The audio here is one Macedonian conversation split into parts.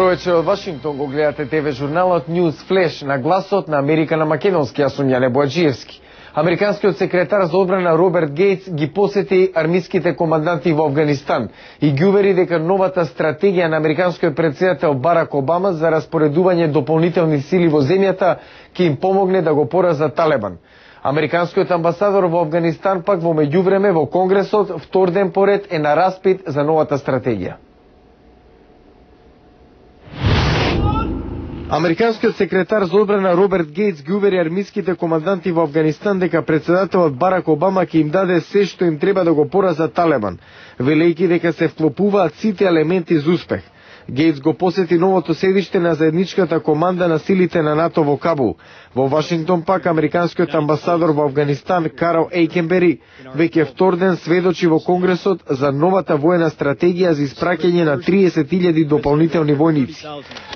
Добро вечер од Вашингтон, го гледате ТВ журналот News Flash на гласот на Америка на македонски, јас сум Јане Боаджиевски. Американскиот секретар за одбрана Роберт Гейтс ги посети армиските команданти во Афганистан и ги увери дека новата стратегија на американскиот претседател Барак Обама за распоредување дополнителни сили во земјата ќе им помогне да го поразат Талебан. Американскиот амбасадор во Афганистан пак во меѓувреме во Конгресот втор ден поред е на распит за новата стратегија. Американскиот секретар за одбрана Роберт Гейтс ги увери армиските команданти во Афганистан дека претседателот Барак Обама ќе им даде се што им треба да го поразат Талебан, велејќи дека се вклопуваат сите елементи за успех. Гейтс го посети новото седиште на заедничката команда на силите на НАТО во Кабул. Во Вашингтон пак американскиот амбасадор во Афганистан Карл Ейкенбери веќе втор ден сведочи во Конгресот за новата воена стратегија за испраќање на 30.000 дополнителни војници.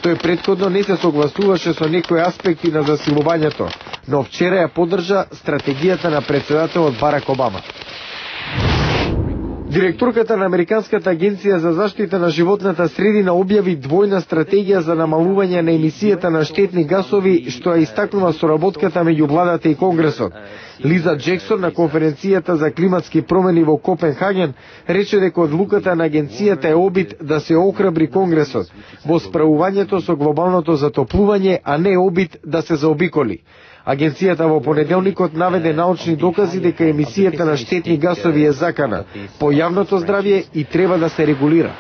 Тој претходно не се согласуваше со некои аспекти на засилувањето, но вчера ја поддржа стратегијата на претседателот Барак Обама. Директорката на Американската агенција за заштита на животната средина објави двојна стратегија за намалување на емисијата на штетни гасови, што ја истакнува соработката меѓу владата и Конгресот. Лиза Джексон на конференцијата за климатски промени во Копенхаген рече дека одлуката на агенцијата е обид да се охрабри Конгресот во справувањето со глобалното затоплување, а не обид да се заобиколи. Агенцијата во понеделникот наведе научни докази дека емисијата на штетни гасови е закана по јавното здравје и треба да се регулира.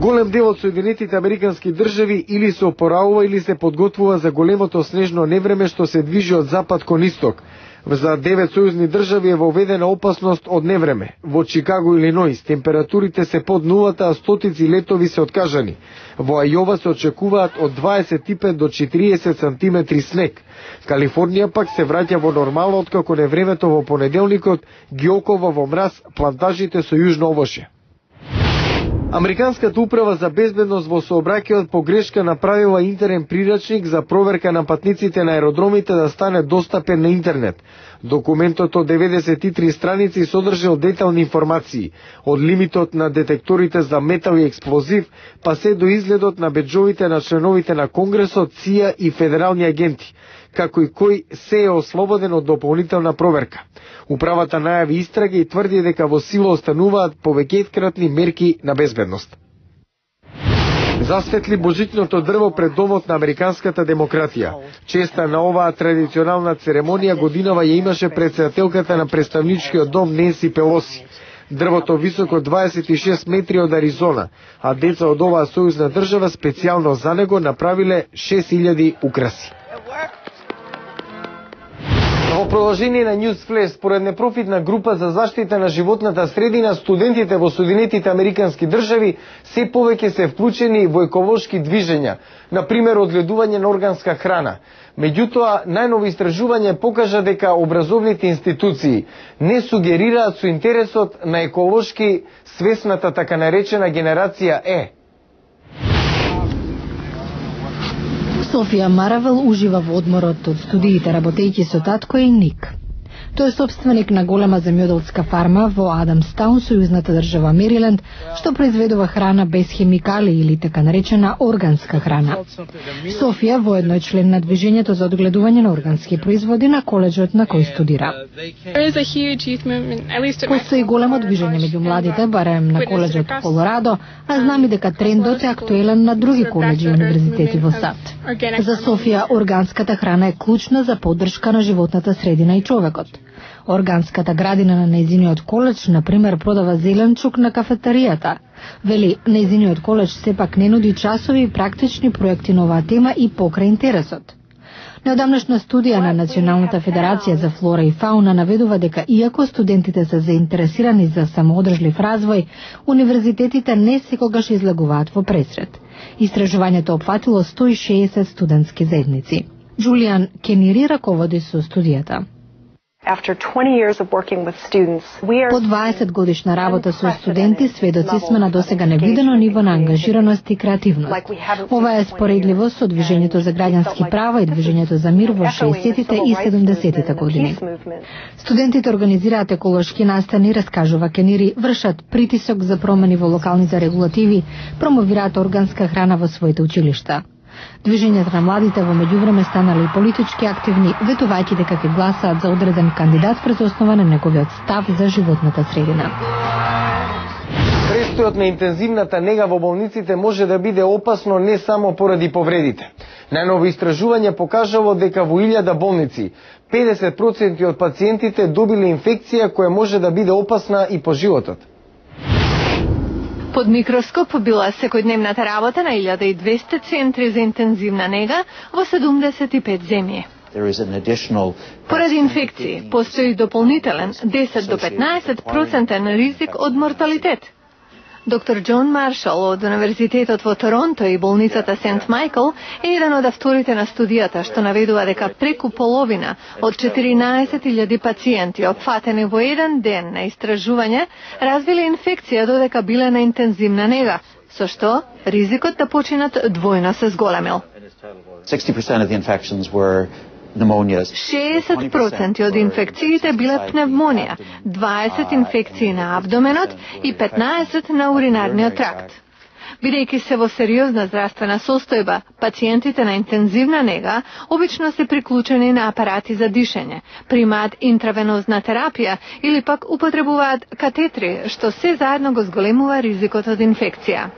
Голем дел од Соединетите Американски држави или се опораува или се подготвува за големото снежно невреме што се движи од запад кон исток. За 9 сојузни држави е воведена опасност од невреме. Во Чикаго, Илиноис, температурите се под нулата, а стотици летови се откажани. Во Ајова се очекуваат од 25 до 40 сантиметри снег. Калифорнија пак се враќа во нормално откако невремето во понеделникот ги окова во мраз плантажите со јужно овошје. Американската управа за безбедност во сообраќајот по грешка направила интерен прирачник за проверка на патниците на аеродромите да стане достапен на интернет. Документот од 93 страници содржал детални информации, од лимитот на детекторите за метал и експлозив, па се до изгледот на беџовите на членовите на Конгресот, ЦИА и федерални агенти, како и кој се е ослободен од дополнителна проверка. Управата најави истрага и тврди дека во сила остануваат повеќеткратни мерки на безбедност. Засветли божичното дрво пред домот на американската демократија. Честа на оваа традиционална церемонија годинава ја имаше претседателката на представничкиот дом Ненси Пелоси. Дрвото високо 26 метри од Аризона, а деца од оваа сојузна држава специјално за него направиле 6000 украси. Во продолжение на News Flash, според непрофитна група за заштита на животната средина, студентите во Соединетите Американски држави се повеќе се вклучени во еколошки движења, на пример одгледување на органска храна. Меѓутоа, најново истражување покажа дека образовните институции не сугерираат со интересот на еколошки свесната така наречена генерација Е. Софија Маравел ужива во одморот од студиите работејќи со татко и Ник. Тој е собственик на голема земјоделска фарма во Адамстаун, сојузната држава Мериленд, што произведува храна без хемикали или така наречена органска храна. Софија воедно е член на движењето за одгледување на органски производи на коледжот на кој студира. Постои големо движење меѓу младите, барем на коледжот Колорадо, а знам и дека трендот е актуелен на други коледжи и универзитети во САД. За Софија органската храна е клучна за поддршка на животната средина и човекот. Органската градина на нејзиниот коледж, например, продава зеленчук на кафетаријата. Вели, нејзиниот коледж сепак не нуди часови и практични проекти на оваа тема и покрај интересот. Неодамнашна студија на Националната федерација за флора и фауна наведува дека иако студентите се заинтересирани за самоодржлив развој, универзитетите не секогаш излегуваат во пресред. Истражувањето опфатило 160 студентски заедници. Джулијан Кенири раководи со студијата. По 20 годишна работа со студенти, сведоци сме на досега невидено ниво на ангажираност и креативност. Ова е споредливо со движењето за граѓански права и движењето за мир во 60-тите и 70-тите години. Студентите организираат еколошки настани, раскажува Кенири, вршат притисок за промени во локалните регулативи, промовираат органска храна во своите училишта. Движењето на младите во меѓувреме станали политички активни, ветувајќи дека ќе гласаат за одреден кандидат врз основа на неговиот став за животната средина. Престојот на интензивната нега во болниците може да биде опасно не само поради повредите. Најново истражување покажало дека во 1000 болници 50% од пациентите добиле инфекција која може да биде опасна и по животот. Под микроскоп била секојдневната работа на 1200 центри за интензивна нега во 75 земји. Поради инфекции, постои дополнителен 10 до 15% ризик од морталитет. Доктор Џон Маршал од Универзитетот во Торонто и болницата Сент Майкл е еден од авторите на студијата што наведува дека преку половина од 14.000 пациенти опфатени во еден ден на истражување развиле инфекција додека биле на интензивна нега, со што ризикот да починат двојно се зголемил. 60% од инфекциите биле пневмонија, 20 инфекции на абдоменот и 15 на уринарниот тракт. Бидејќи се во сериозна здравствена состојба, пациентите на интензивна нега обично се приклучени на апарати за дишење, примаат интравенозна терапија или пак употребуваат катетри, што се заедно го зголемува ризикот од инфекција.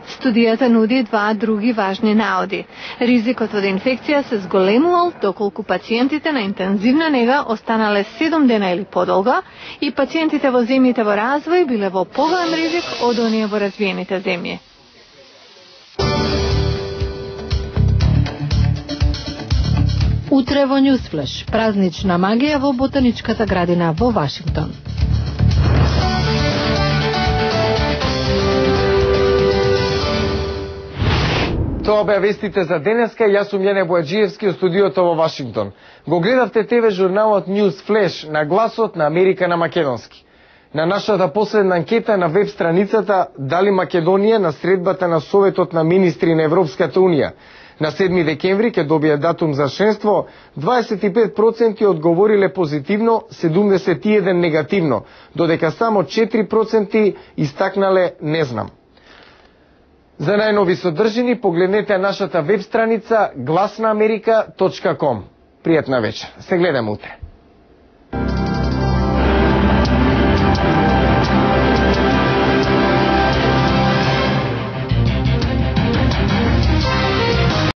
Студијата нуди два други важни наоди. Ризикот од инфекција се зголемувал доколку пациентите на интензивна нега останале 7 дена или подолго и пациентите во земјите во развој биле во поголем ризик од оние во развиените земји. Утре во Ньюсфлеш, празнична магија во ботаничката градина во Вашингтон. Тоа беа вестите за денеска. Јас сум Јане Бојаджиевски од студиото во Вашингтон. Го гледавте ТВ журналот News Flash на гласот на Америка на македонски. На нашата последна анкета на веб страницата дали Македонија на средбата на Советот на министри на Европската Унија на 7 декември ќе добие датум за членство, 25% одговориле позитивно, 71% негативно, додека само 4% истакнале не знам. За најнови содржини погледнете нашата веб страница glasnaamerika.com. Пријатна вечер. Се гледаме утре.